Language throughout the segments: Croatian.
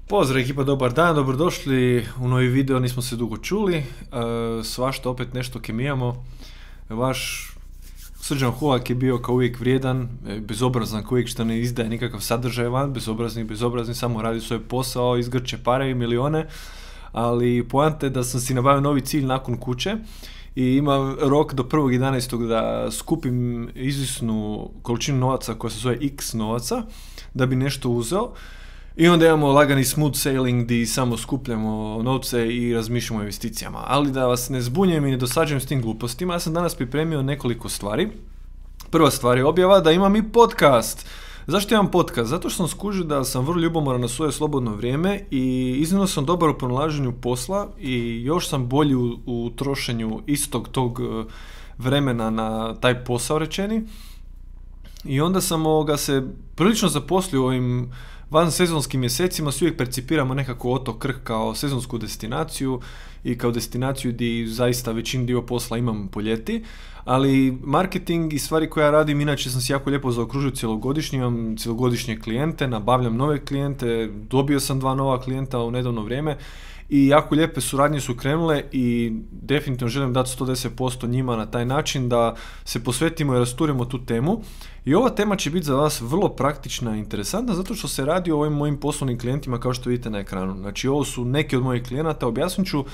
Pozdrav ekipa, dobar dan, dobrodošli u novi video, nismo se dugo čuli, svašta opet nešto kemijamo. Vaš Srđan Hovak je bio kao uvijek vrijedan, bezobrazan kao uvijek što ne izdaje nikakav sadržaj van, bezobrazni, samo radi svoj posao, izgrče pare i milione, ali poanta je da sam si nabavio novi cilj nakon kuće i imam rok do 1.11. da skupim izvisnu količinu novaca koja se zove X novaca, da bi nešto uzeo. I onda imamo lagani smooth sailing gdje samo skupljamo novce i razmišljamo o investicijama. Ali da vas ne zbunjujem i ne dosađujem s tim glupostima, ja sam danas pripremio nekoliko stvari. Prva stvar je objava da imam i podcast. Zašto imam podcast? Zato što sam skužio da sam vrlo ljubomoran na svoje slobodno vrijeme i iznimno sam dobar u pronalaženju posla i još sam bolji u trošenju istog tog vremena na taj posao rečeni. I onda sam se prilično zaposlio u ovim van sezonskim mjesecima, svi uvijek percipiramo nekako Otok Krk kao sezonsku destinaciju i kao destinaciju gdje zaista većin dio posla imam po ljeti, ali marketing i stvari koje ja radim, inače sam si jako lijepo zaokružio cjelogodišnje, imam cjelogodišnje klijente, nabavljam nove klijente, dobio sam 2 nova klijenta u nedavno vrijeme i jako lijepe suradnje su krenule i definitivno želim dati 110% njima na taj način da se posvetimo i rasturimo tu temu. I ova tema će biti za vas vrlo praktična i interesantna zato što se radi o ovim mojim poslovnim klijentima kao što vidite na ekranu. Znači ovo su neki od mojih klijenata, objasnit ću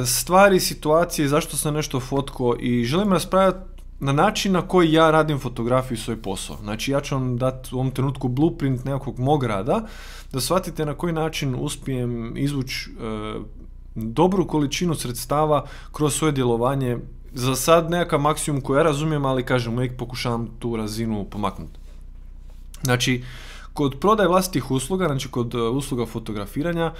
stvari, situacije, zašto sam nešto fotkao i želim raspravljati na način na koji ja radim fotografiju i svoj posao. Znači ja ću vam dati u ovom trenutku blueprint nekakvog mog rada, da shvatite na koji način uspijem izvući dobru količinu sredstava kroz svoje djelovanje. Za sad nekakav maksimum koji ja razumijem, ali kažem, uvijek pokušavam tu razinu pomaknuti. Znači, kod prodaje vlastitih usluga, znači kod usluga fotografiranja,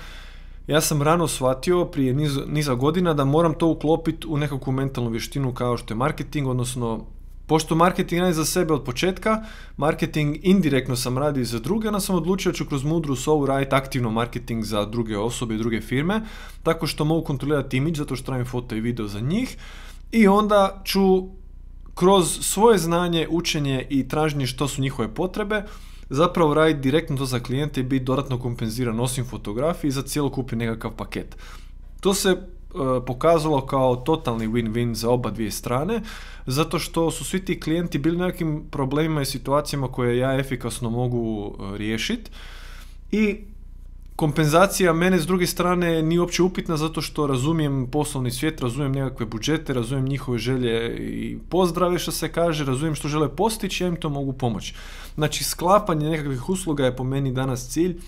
ja sam rano shvatio prije niza godina da moram to uklopiti u nekakvu mentalnu vještinu kao što je marketing, odnosno pošto marketing radi za sebe od početka, marketing indirektno sam radio za druge, onda sam odlučio da ću kroz mudru sovu raditi aktivno marketing za druge osobe i druge firme, tako što mogu kontrolirati imidž, zato što radim foto i video za njih i onda ću kroz svoje znanje, učenje i traženje što su njihove potrebe zapravo raditi direktno to za klijente i biti dodatno kompenziran osim fotografiji za cjelokupni nekakav paket. To se pokazalo kao totalni win-win za oba dvije strane, zato što su svi ti klijenti bili nekim problemima i situacijama koje ja efikasno mogu riješiti i kompenzacija mene s druge strane nije uopće upitna zato što razumijem poslovni svijet, razumijem nekakve budžete, razumijem njihove želje i pozdrave što se kaže, razumijem što žele postići, ja im to mogu pomoći. Znači sklapanje nekakvih usluga je po meni danas cilj.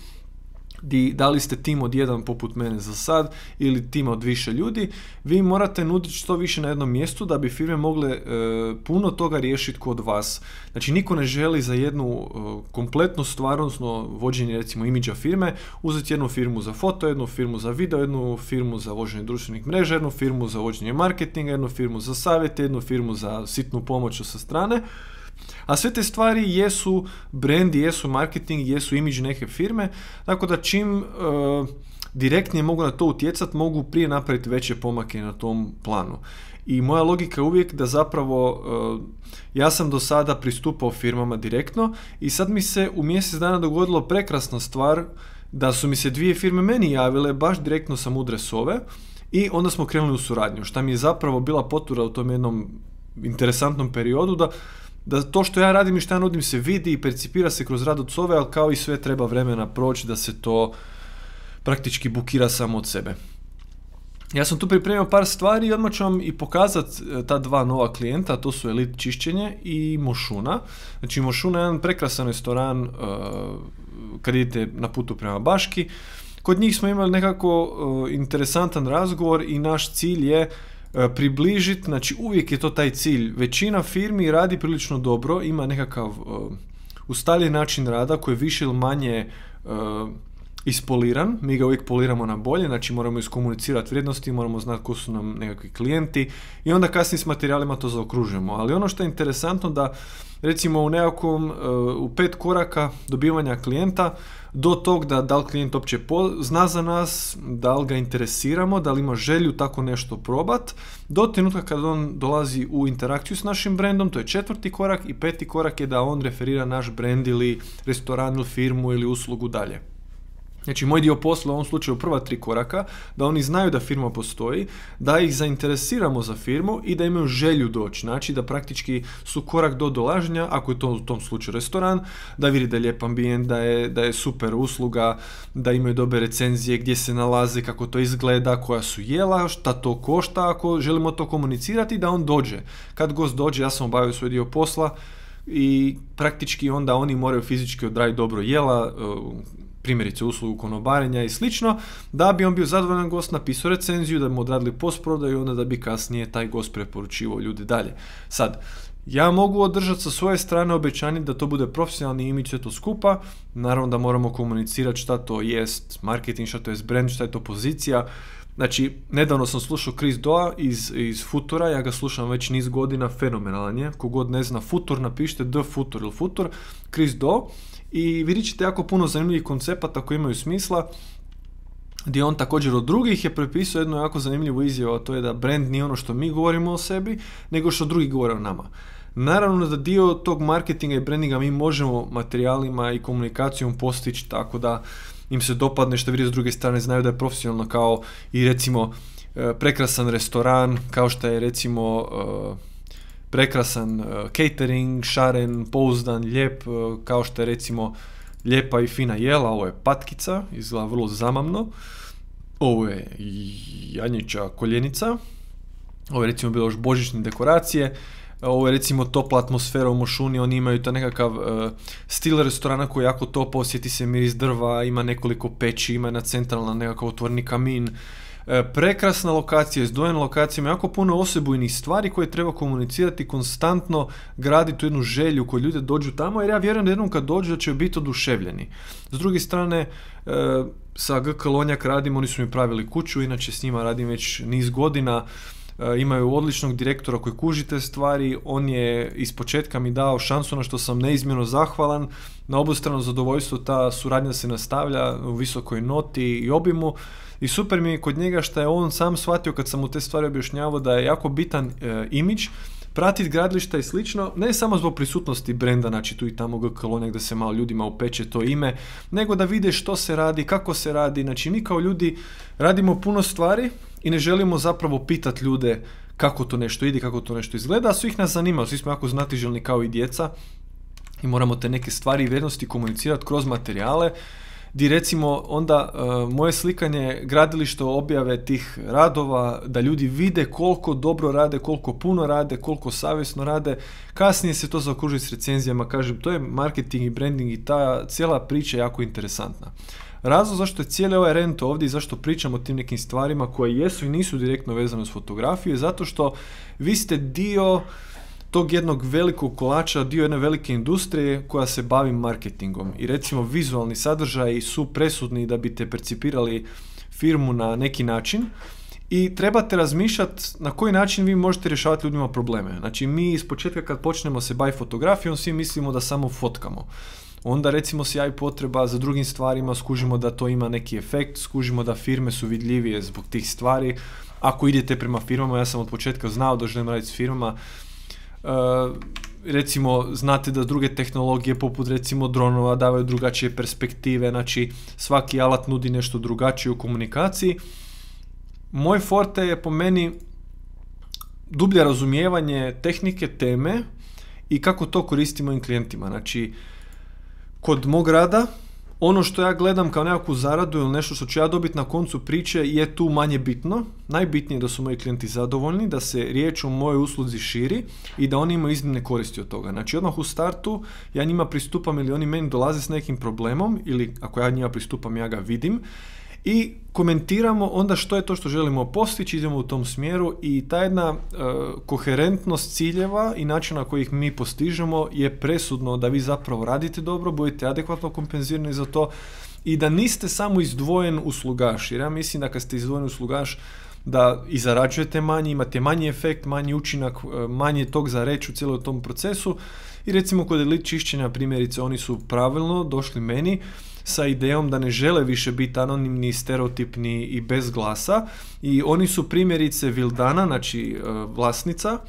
Da li ste tim od jedan poput mene za sad ili tim od više ljudi, vi morate nuditi što više na jednom mjestu da bi firme mogle puno toga riješiti kod vas. Znači niko ne želi za jednu kompletnu stvar, odnosno vođenje recimo imidža firme, uzeti jednu firmu za foto, jednu firmu za video, jednu firmu za vođenje društvenih mreža, jednu firmu za vođenje marketinga, jednu firmu za savjete, jednu firmu za sitnu pomoć sa strane. A sve te stvari jesu brand, jesu marketing, jesu imidž neke firme, tako da čim direktnije mogu na to utjecati, mogu prije napraviti veće pomake na tom planu. I moja logika je uvijek da zapravo ja sam do sada pristupao firmama direktno i sad mi se u mjesec dana dogodilo prekrasna stvar da su mi se 2 firme meni javile baš direktno sa mudre sove i onda smo krenuli u suradnju, šta mi je zapravo bila potvrda u tom jednom interesantnom periodu da to što ja radim i što ja nudim se vidi i percipira se kroz rad od sove, ali kao i sve treba vremena proći da se to praktički bukira samo od sebe. Ja sam tu pripremio par stvari i odmah ću vam i pokazati ta 2 nova klijenta, to su Elite čišćenje i Mošuna. Znači Mošuna je jedan prekrasan restoran kad idete na putu prema Baški. Kod njih smo imali nekako interesantan razgovor i naš cilj je približiti, znači uvijek je to taj cilj. Većina firmi radi prilično dobro, ima nekakav ustaljen način rada koji je više ili manje ispoliran, mi ga uvijek poliramo na bolje, znači moramo iskomunicirati vrijednosti, moramo znati ko su nam nekakvi klijenti i onda kasnije s materijalima to zaokružujemo. Ali ono što je interesantno da recimo u nekakvom u 5 koraka dobivanja klijenta do tog da li klijent uopće zna za nas, da li ga interesiramo, da li ima želju tako nešto probat, do trenutka kada on dolazi u interakciju s našim brandom, to je 4. korak i 5. korak je da on referira naš brand ili restoran ili firmu ili uslugu dalje. Znači, moj dio posla u ovom slučaju prva 3 koraka, da oni znaju da firma postoji, da ih zainteresiramo za firmu i da imaju želju doći. Znači, da praktički su korak do dolaženja, ako je to u tom slučaju restoran, da vidi da je lijep ambijent, da je super usluga, da imaju dobre recenzije, gdje se nalaze, kako to izgleda, koja su jela, šta to košta, ako želimo to komunicirati, da on dođe. Kad gost dođe, ja sam obavio svoj dio posla i praktički onda oni moraju fizički odraditi dobro jela, primjerice uslugu konobarenja i slično, da bi on bio zadovoljan gost, napisao recenziju, da bi mu odradili postprodaju i onda da bi kasnije taj gost preporučivao ljudi dalje. Sad, ja mogu održati sa svoje strane obećanje da to bude profesionalni imidž, sve to skupa, naravno da moramo komunicirati šta to jest marketing, šta to jest brand, šta je to pozicija. Znači, nedavno sam slušao Chris Doa iz Futura, ja ga slušam već niz godina, fenomenalan je, kogod ne zna Futur, napišite The Futur ili Futur, Chris Doa, i vidjet ćete jako puno zanimljivih koncepata koji imaju smisla, gdje on također od drugih je prepisao jednu jako zanimljivu izjavu, a to je da brand nije ono što mi govorimo o sebi, nego što drugi govore o nama. Naravno da dio tog marketinga i brandinga mi možemo materijalima i komunikacijom postići tako da im se dopadne što vidi s druge strane, znaju da je profesionalno, kao i recimo prekrasan restoran, kao što je recimo prekrasan catering, šaren, pouzdan, lijep, kao što je recimo lijepa i fina jela. Ovo je patkica, izgleda vrlo zamamno. Ovo je janjića koljenica. Ovo je recimo bilo još božićne dekoracije. Ovo je recimo topla atmosfera u Mošuni, oni imaju to nekakav stil restorana koji je jako topao, osjeti se miris drva, ima nekoliko peći, ima jedna centralna nekakav otvoreni kamin. Prekrasna lokacija, izdvojena lokacija, ima jako puno osebujnih stvari koje treba komunicirati, konstantno graditi jednu želju koju ljudi dođu tamo, jer ja vjerujem da jednom kad dođu da će biti oduševljeni. S druge strane, sa GK Lonjak radim, oni su mi pravili kuću, inače s njima radim već niz godina, imaju odličnog direktora koji kuži te stvari, on je ispočetka mi dao šansu na što sam neizmjerno zahvalan, na obostrano zadovoljstvo ta suradnja se nastavlja u visokoj noti i obimu i super mi je kod njega što je on sam shvatio kad sam mu te stvari objašnjavao da je jako bitan imidž, pratiti gradilišta i slično, ne samo zbog prisutnosti brenda, znači tu i tamo GK Lonjak da se malo ljudima upeče to ime, nego da vide što se radi, kako se radi, znači mi kao ljudi radimo puno stvari i ne želimo zapravo pitati ljude kako to nešto ide, kako to nešto izgleda, a svih nas zanima, svi smo jako znatiželjni kao i djeca i moramo te neke stvari i vrijednosti komunicirati kroz materijale, gdje recimo onda moje slikanje gradilišta objave tih radova, da ljudi vide koliko dobro rade, koliko puno rade, koliko savjesno rade, kasnije se to zaokruži s recenzijama, kažem, to je marketing i branding i ta cijela priča je jako interesantna. Razlog zašto je cijeli ovaj rent ovdje i zašto pričamo o tim nekim stvarima koje jesu i nisu direktno vezane s fotografiju je zato što vi ste dio tog jednog velikog kolača, dio jedne velike industrije koja se bavi marketingom i recimo vizualni sadržaji su presudni da biste percipirali firmu na neki način i trebate razmišljati na koji način vi možete rješavati ljudima probleme. Znači mi iz početka kad počnemo se baviti fotografijom svi mislimo da samo fotkamo. Onda recimo se javi potreba za drugim stvarima, skužimo da to ima neki efekt, skužimo da firme su vidljivije zbog tih stvari. Ako idete prema firmama, ja sam od početka znao da želim raditi s firmama, recimo znate da druge tehnologije poput recimo dronova davaju drugačije perspektive, znači svaki alat nudi nešto drugačije u komunikaciji. Moj forte je po meni dublje razumijevanje tehnike, teme i kako to koristimo mojim klijentima. Znači, kod mog rada, ono što ja gledam kao nekakvu zaradu ili nešto što ću ja dobiti na koncu priče je tu manje bitno. Najbitnije je da su moji klijenti zadovoljni, da se riječ o mojoj usluzi širi i da oni imaju iznimne koristi od toga. Znači odmah u startu ja njima pristupam ili oni meni dolaze s nekim problemom ili ako ja njima pristupam ja ga vidim i komentiramo onda što je to što želimo postići, idemo u tom smjeru i ta jedna koherentnost ciljeva i načina na koji ih mi postižemo je presudno da vi zapravo radite dobro, budete adekvatno kompenzirani za to i da niste samo izdvojen uslugaš, jer ja mislim da kad ste izdvojen uslugaš da i zarađujete manje, imate manji efekt, manji učinak, manje tog za reći u cijelom tom procesu i recimo kod elite čišćenja primjerice oni su pravilno došli meni sa idejom da ne žele više biti anonimni, stereotipni i bez glasa i oni su primjerice Vildana, znači vlasnica,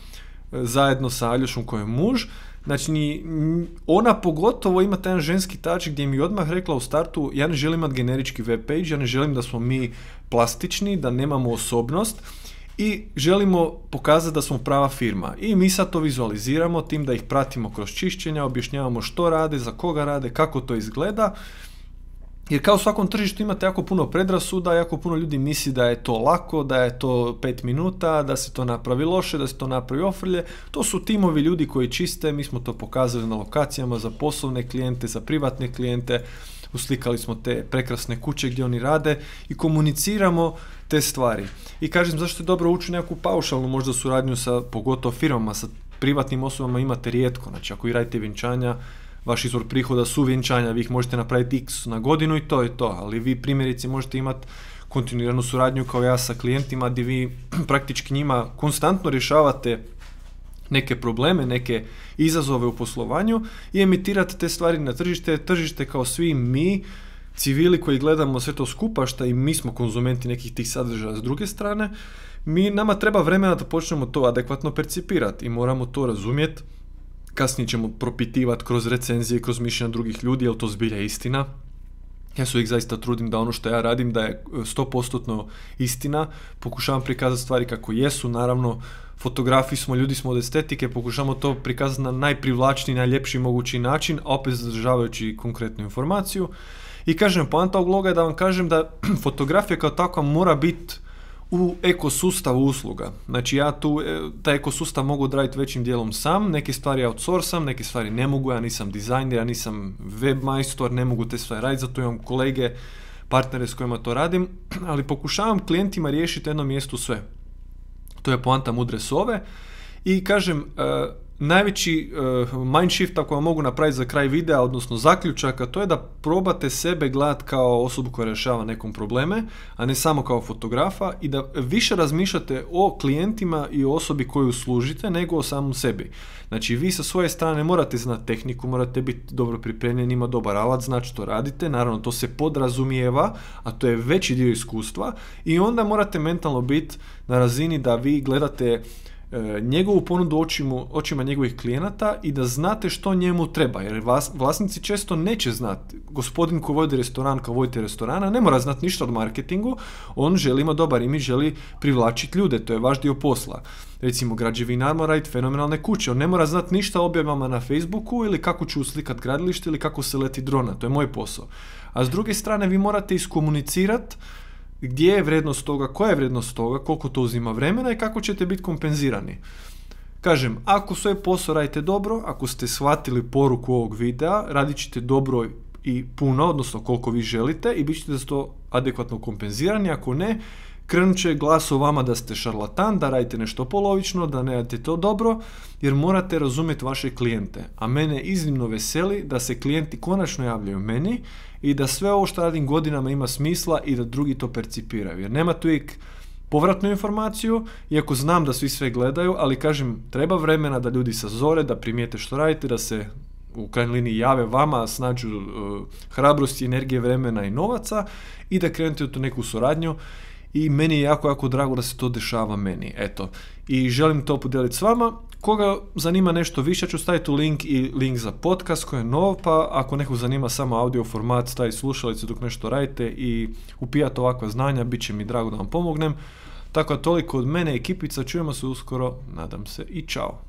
zajedno sa Aljošom koji je muž, Znači, ona pogotovo ima taj ženski touch gdje mi je odmah rekla u startu, ja ne želim imati generički web page, ja ne želim da smo mi plastični, da nemamo osobnost i želimo pokazati da smo prava firma. I mi sad to vizualiziramo tim da ih pratimo kroz čišćenja, objašnjavamo što rade, za koga rade, kako to izgleda. Jer kao u svakom tržištu imate jako puno predrasuda, jako puno ljudi misli da je to lako, da je to 5 minuta, da se to napravi loše, da se to napravi ofrlje. To su timovi ljudi koji čiste, mi smo to pokazali na lokacijama za poslovne klijente, za privatne klijente, uslikali smo te prekrasne kuće gdje oni rade i komuniciramo te stvari. I kažem, zašto je dobro ući u nekakvu paušalnu možda suradnju sa pogotovo firmama, sa privatnim osobama imate rijetko. Znači ako vi radite vjenčanja, vaš izvor prihoda su vjenčanja, vi ih možete napraviti x na godinu i to je to, ali vi primjerice možete imati kontinuiranu suradnju kao ja sa klijentima gdje vi praktički njima konstantno rješavate neke probleme, neke izazove u poslovanju i emitirate te stvari na tržište kao svi mi, civili koji gledamo sve to skupa, šta i mi smo konzumenti nekih tih sadržaja s druge strane, nama treba vremena da počnemo to adekvatno percipirati i moramo to razumjeti. Kasnije ćemo propitivati kroz recenzije, kroz mišljenja drugih ljudi, je li to zbilja istina. Ja se uvijek zaista trudim da ono što ja radim da je 100% istina, pokušavam prikazati stvari kako jesu, naravno fotografi smo, ljudi smo od estetike, pokušamo to prikazati na najprivlačniji, najljepši mogući način, a opet zadržavajući konkretnu informaciju. I kažem, poanta ovog loga je da vam kažem da fotografija kao takva mora biti u ekosustavu usluga. Znači ja taj ekosustav mogu odraditi većim dijelom sam, neke stvari outsourcam, neke stvari ne mogu, ja nisam dizajner, ja nisam web majstor, ne mogu te stvari raditi, zato imam kolege, partnere s kojima to radim, ali pokušavam klijentima riješiti jednom mjestu sve. To je poanta mudre sove i kažem, najveći mindshift ako vam mogu napraviti za kraj videa, odnosno zaključaka, to je da probate sebe gledati kao osobu koja rješava nekom probleme, a ne samo kao fotografa i da više razmišljate o klijentima i o osobi koju služite nego o samom sebi. Znači vi sa svoje strane morate znati tehniku, morate biti dobro pripremljeni, ima dobar alat, znači što radite, naravno to se podrazumijeva, a to je veći dio iskustva i onda morate mentalno biti na razini da vi gledate njegovu ponudu očima njegovih klijenata i da znate što njemu treba, jer vlasnici često neće znati. Gospodin ko vodi restoran, kao vodite restorana, ne mora znati ništa od marketingu, on želi imati dobar imidž, želi privlačiti ljude, to je vaš dio posla. Recimo, građevinar mora raditi fenomenalne kuće, on ne mora znati ništa o objavama na Facebooku ili kako ću uslikati gradilište ili kako se leti drona, to je moj posao. A s druge strane, vi morate iskomunicirati gdje je vrijednost toga, koja je vrijednost toga, koliko to uzima vremena i kako ćete biti kompenzirani. Kažem, ako svoj posao radite dobro, ako ste shvatili poruku ovog videa, radit ćete dobro i puno, odnosno koliko vi želite i bit ćete za to adekvatno kompenzirani, ako ne, krenut će glas o vama da ste šarlatan, da radite nešto polovično, da ne radite to dobro, jer morate razumjeti vaše klijente. A mene iznimno veseli da se klijenti konačno javljaju meni i da sve ovo što radim godinama ima smisla i da drugi to percipiraju. Jer nemate uvijek povratnu informaciju, iako znam da svi sve gledaju, ali kažem, treba vremena da ljudi sazore, da primijete što radite, da se u krajnjoj liniji jave vama, snađu hrabrosti, energije, vremena i novaca i da krenete u tu neku suradnju. I meni je jako, jako drago da se to dešava meni. Eto. I želim to podijeliti s vama. Koga zanima nešto više, ću staviti u link za podcast koji je nov, pa ako nekog zanima samo audio format, staviti slušalice dok nešto radite i upijate ovakva znanja, bit će mi drago da vam pomognem. Tako da toliko od mene, ekipica, čujemo se uskoro, nadam se i čao.